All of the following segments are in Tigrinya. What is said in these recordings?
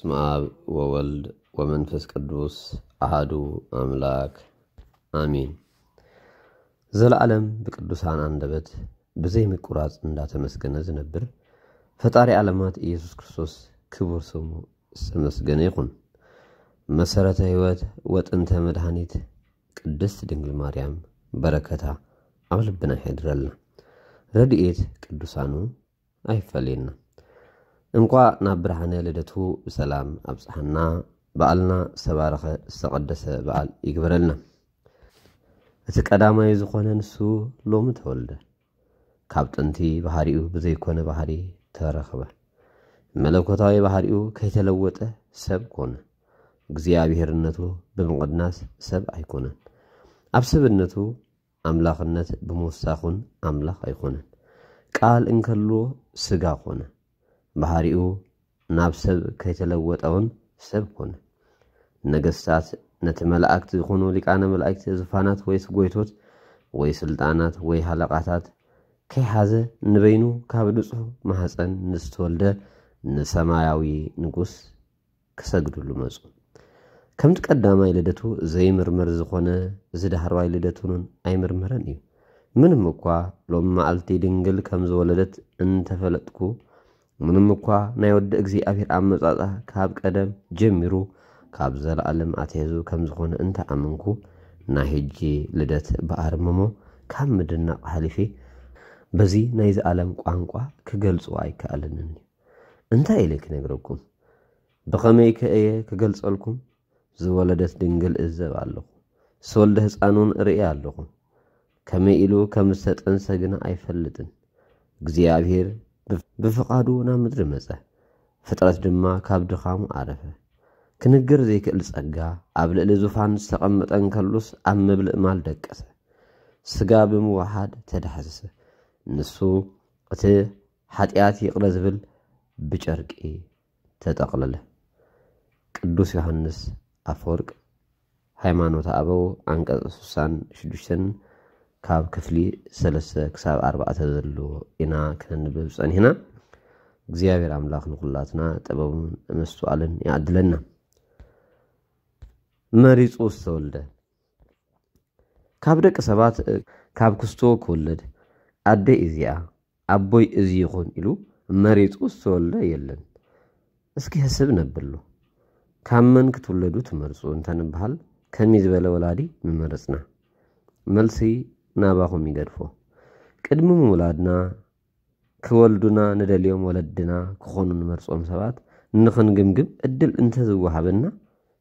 በስመ አብ ወወልድ ወመንፈስ ቅዱስ አሐዱ አምላክ አሜን። ዘለዓለም ብቅዱሳን አንደበት ብዘይ ምቁራጽ እንዳተመስገነ ዝነብር ፈጣሪ ዓለማት ኢየሱስ ክርስቶስ ክቡር ስሙ ዝተመስገነ ይኹን። መሰረተ ሕይወት ወጥንተ መድኃኒት ቅድስት ድንግል ማርያም በረከታ ኣብ ልብና ይሕድረልና። ረድኤት ቅዱሳኑ ኣይፈለየና። እንኳዕ ናብ ብርሃነ ልደቱ ብሰላም ኣብጽሓና። በዓልና ዝተባረኸ ዝተቐደሰ በዓል ይግበረልና። እቲ ቀዳማይ ዝኾነ ንሱ ሎሚ ተወልደ። ካብ ጥንቲ ባህሪኡ ብዘይኮነ ባህሪ ተረኽበ። መለኮታዊ ባህሪኡ ከይተለወጠ ሰብ ኮነ። እግዚኣብሔርነቱ ብምቕናስ ሰብ ኣይኮነን። ኣብ ሰብነቱ ኣምላኽነት ብምውሳኹን ኣምላኽ ኣይኮነን። ቃል እንከልዎ ስጋ ኮነ። ባህሪኡ ናብ ሰብ ከይተለወጠውን ሰብ ኮነ። ነገስታት ነቲ መላእክት ዝኾኑ ሊቃነ መላእክት ዙፋናት ወይስ ጎይቶት ወይ ስልጣናት ወይ ሃለቃታት ከይሓዘ ንበይኑ ካብ ንጹሕ ማህፀን ንዝተወልደ ንሰማያዊ ንጉስ ክሰግድሉ መጹ። ከምቲ ቀዳማይ ልደቱ ዘይምርመር ዝኾነ እዚ ዳሕረዋይ ልደቱን ኣይምርመረን እዩ። ምንም እኳ ሎም መዓልቲ ድንግል ከም ዝወለደት እንተፈለጥኩ፣ ምንም እኳ ናይ ወዲ እግዚኣብሔር ኣመጻጻ ካብ ቀደም ጀሚሩ ካብ ዘለዓለም ኣትሒዙ ከም ዝኾነ እንተኣመንኩ፣ ናይ ሕጂ ልደት ብኣርምሞ ካብ ምድናቕ ሓሊፌ በዚ ናይዚ ዓለም ቋንቋ ክገልጾ ኣይከኣለንን እዩ። እንታይ ኢለ ክነግረኩም? ብኸመይ ከ እየ ክገልጸልኩም? ዝወለደት ድንግል እዘብ ኣለኹ። ዝተወልደ ህፃን እውን እርኢ ኣለኹ። ከመይ ኢሉ ከም ዝተጠንሰ ግና ኣይፈልጥን። እግዚኣብሔር ብፍ-፣ ብፍቓዱ ናብ ምድሪ መጸ። ፍጥረት ድማ ካብ ድኻሙ ዓረፈ። ክንገር ዘይክእል ጸጋ ኣብ ልዕሊ ዙፋን ዝተቐመጠ እንከሉስ ኣብ ምብልእ ማል ደቀሰ። ስጋ ብምውሓድ ተዳህሰሰ። ንሱ እቲ ሓጢኣት ይቕረ ዝብል ብጨርቂ ተጠቕለለ። ቅዱስ ዮሃንስ ኣፈወርቅ ሃይማኖተ ኣበው ዓንቀጽ ስሳን ሽዱሽተን ካብ ክፍሊ ሰለስተ ክሳብ ኣርባዕተ ዘሎ ኢና ክነንብብ ጸኒሕና። እግዚኣብሔር ኣምላኽ ንኹላትና ጥበቡን መስተዋልን ይዓድለና። መሪጹ ዝተወልደ። ካብ ደቂ ሰባት፣ ካብ ክስቶ ክውለድ፣ ኣደይ እዚኣ፣ ኣቦይ እዚ ይኹን ኢሉ መሪጹ ዝተወልደ የለን። እስኪ ሕስብ ነብሎ። ካብ መን ክትውለዱ ትመርጹ እንተንበሃል፣ ከመይ ዝበለ ወላዲ ምመረጽና? መልሲ ናባኹም ይገድፎ። ቅድሚ ምውላድና፣ ክወልዱና ንደልዮም ወለድና ክኾኑ ንመርጾም ሰባት ንኽንግምግም ዕድል እንተዝወሃበና፣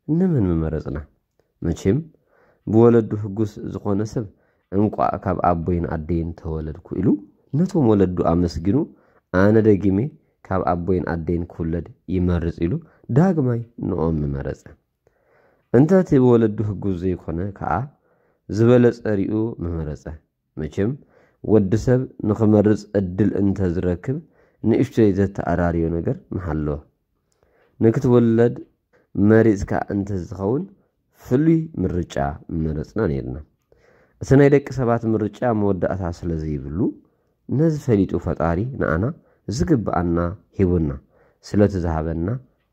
ንመን ምመረጽና? መቸም፣ ብወለዱ ህጉስ ዝኾነ ሰብ፣ እንቋዕ ካብ ኣቦይን ኣደይን ተወለድኩ ኢሉ ነቶም ወለዱ ኣመስጊኑ፣ ኣነ ደጊሜ ካብ ኣቦይን ኣደይን ክውለድ ይመርጽ ኢሉ ዳግማይ ንኦም ምመረጸ። እንተ እቲ ብወለዱ ህጉስ ዘይኮነ ከኣ፣ ዝበለጸ ሪኡ ምመረጸ። መቸም፣ ወዲ ሰብ ንኽመርጽ ዕድል እንተ ዝረክብ፣ ንእሽቶይ ዘተኣራርዮ ነገር ምሃለወ። ንክትውለድ መሪጽካ እንተ ዝኸውን፣ ፍሉይ ምርጫ ምመረጽና ነይርና። እቲ ናይ ደቂ ሰባት ምርጫ መወዳእታ ስለ ዘይብሉ፣ ነዚ ፈሊጡ ፈጣሪ ንኣና ዝግብኣና ሂቡና። ስለቲ ዝሃበና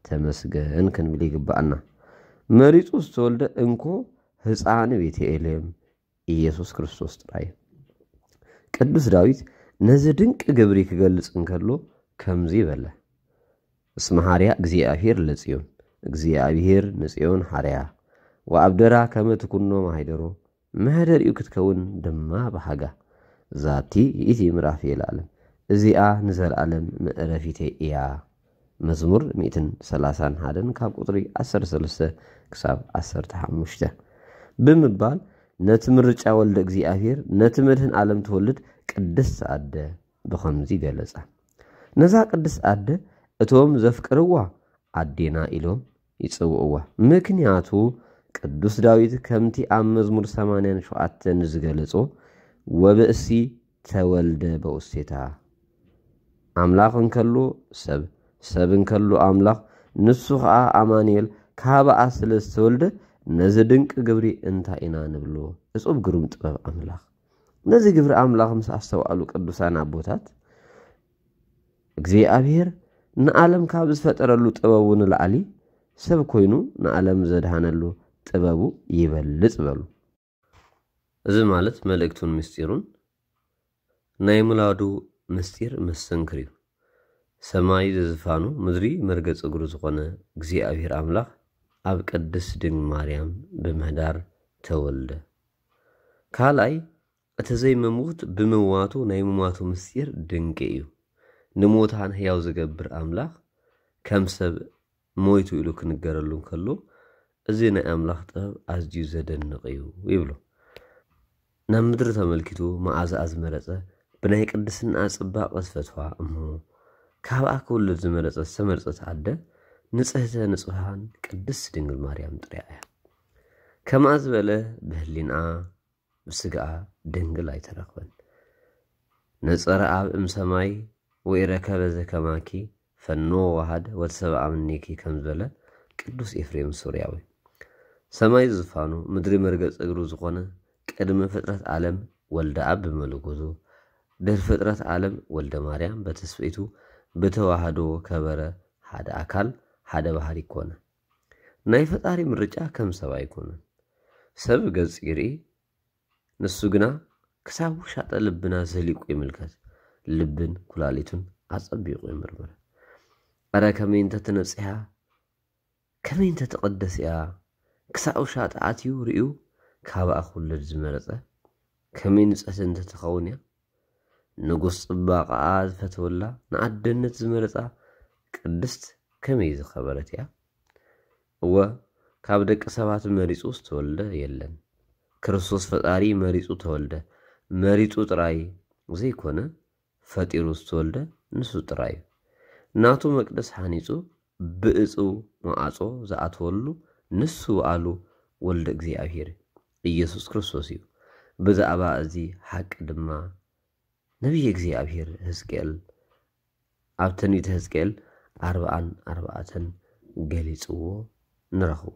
ተመስገን ክንብል ይግብኣና። መሪጹ ዝተወልደ እንኮ ህፃን ቤተኤልሔም ኢየሱስ ክርስቶስ ጥራይ። ቅዱስ ዳዊት ነዚ ድንቂ ግብሪ ክገልጽ እንከሎ ከምዚ በለ፣ እስመ ሐርያ እግዚኣብሔር ለጽዮን፣ እግዚኣብሔር ንጽዮን ሐርያ፣ ወአብደራ ከመ ትኩኖ ማሕደሮ፣ መሕደሪኡ ክትከውን ድማ ብሃጋ። ዛቲ ይእቲ ምዕራፍ የለዓለም፣ እዚኣ ንዘለዓለም መዕረፊተይ እያ። መዝሙር ሚእትን ሰላሳን ሓደን ካብ ቁጽሪ ዓሰርተ ሰለስተ ክሳብ ዓሰርተ ሓሙሽተ ብምባል ነቲ ምርጫ ወልደ እግዚኣብሔር ነቲ መድህን ዓለም ትወልድ ቅድስት ኣደ ብኸምዚ ገለጻ። ነዛ ቅድስት ኣደ እቶም ዘፍቅርዋ ኣዴና ኢሎም ይጽውዕዋ። ምክንያቱ ቅዱስ ዳዊት ከምቲ ኣብ መዝሙር ሰማንያን ሸውዓተን ዝገለጾ፣ "ወብእሲ ተወልደ በውስቴታ"፣ ኣምላኽ እንከሎ ሰብ፣ ሰብ እንከሎ ኣምላኽ፣ ንሱ ኸኣ ኣማኑኤል ካብኣ ስለ ዝተወልደ፣ ነዚ ድንቂ ግብሪ እንታይ ኢና ንብሎ? እጹብ ግሩም ጥበብ ኣምላኽ። ነዚ ግብሪ ኣምላኽ ምስ ኣስተውዓሉ ቅዱሳን ኣቦታት፣ እግዚኣብሔር ንዓለም ካብ ዝፈጠረሉ ጥበቡ ንላዕሊ ሰብ ኮይኑ ንዓለም ዘድሃነሉ ጥበቡ ይበልጽ በሉ። እዚ ማለት መልእክቱን ምስጢሩን ናይ ሙላዱ ምስጢር መሰንክር እዩ። ሰማይ ዝዝፋኑ ምድሪ መርገጽ እግሩ ዝኾነ እግዚኣብሔር ኣምላኽ ኣብ ቅድስት ድንግል ማርያም ብምህዳር ተወልደ። ካልኣይ፣ እቲ ዘይመሙት ብምዋቱ ናይ ምማቱ ምስጢር ድንቂ እዩ። ንሙታን ሕያው ዝገብር ኣምላኽ ከም ሰብ ሞይቱ ኢሉ ክንገረሉ እንከሎ፣ እዚ ናይ ኣምላኽ ጥበብ ኣዝዩ ዘደንቕ እዩ ይብሉ። ናብ ምድሪ ተመልኪቱ መዓዛኣ ዝመረጸ፣ ብናይ ቅድስና ጽባቐ ዝፈትዋ እሞ፣ ካብኣ ክውለድ ዝመረጸ ዝተመርጸት ኣደ ንጽህተ ንጹሃን ቅድስት ድንግል ማርያም ጥርያ እያ። ከምኣ ዝበለ ብህሊንኣ ብስጋኣ ድንግል ኣይተረኽበን። ነጸረ ኣብ እም ሰማይ ወኢረከበ ዘከማኪ ፈኖ ወሃደ ወተሰብአ ምኔኪ ከም ዝበለ ቅዱስ ኤፍሬም ሱርያዊ። ሰማይ ዝፋኑ ምድሪ መርገጽ እግሩ ዝኾነ ቅድሚ ፍጥረት ዓለም ወልደ ኣብ ብመለኮቱ ድሕሪ ፍጥረት ዓለም ወልደ ማርያም በተስፈይቱ ብተዋህዶ ከበረ ሓደ ኣካል ሓደ ባህሪ ኮነ። ናይ ፈጣሪ ምርጫ ከም ሰብ ኣይኮነን። ሰብ ገጽ ይርኢ ንሱ ግና ክሳብ ውሻጠ ልብና ዘሊቁ ይምልከት። ልብን ኩላሊቱን ኣጸቢቑ ይምርምር። ኣረ ከመይ እንተትነጽሃ፣ ከመይ እንተትቐደስ እያ። ክሳብ ውሻጠ ኣትዩ ርእዩ ካብኣ ክውለድ ዝመረጸ ከመይ ንጽሕቲ እንተትኸውን እያ። ንጉስ ጽባቐኣ ዝፈተወላ ንኣደነት ዝመረጻ ቅድስት ከመይ ዝኸበረት እያ። እወ ካብ ደቂ ሰባት መሪጹ ዝተወልደ የለን። ክርስቶስ ፈጣሪ መሪጹ ተወልደ። መሪጹ ጥራይ ዘይኮነ ፈጢሩ ዝተወልደ ንሱ ጥራይ እዩ። ናቱ መቅደስ ሓኒጹ ብእጹ መዓጾ ዝኣተወሉ ንሱ ኣሉ ወልደ እግዚኣብሔር ኢየሱስ ክርስቶስ እዩ። ብዛዕባ እዚ ሓቂ ድማ ነቢይ እግዚኣብሔር ሕዝቅኤል ኣብ ትንቢተ ሕዝቅኤል ኣርብዓን ኣርባዕተን ገሊጽዎ ንረኽቦ።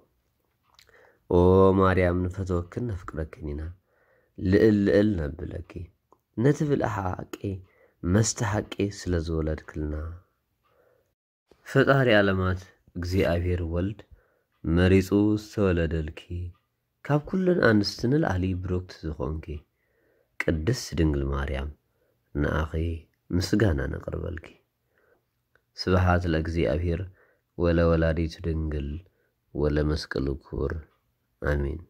ኦ ማርያም ንፈትወክን ነፍቅረክን ኢና ልእል ልእል ነብለኪ ነቲ ብልዒ ሓቂ መስተ ሓቂ ስለ ዝወለድክልና። ፈጣሪ ዓለማት እግዚኣብሔር ወልድ መሪጹ ዝተወለደልኪ ካብ ኩለን ኣንስቲ ንላዕሊ ብሩክቲ ዝኾንኪ ቅድስት ድንግል ማርያም ንኣኺ ምስጋና ነቕርበልኪ። ስብሓት ለእግዚኣብሔር ወለ ወላዲቱ ድንግል ወለ መስቀሉ ክቡር ኣሜን።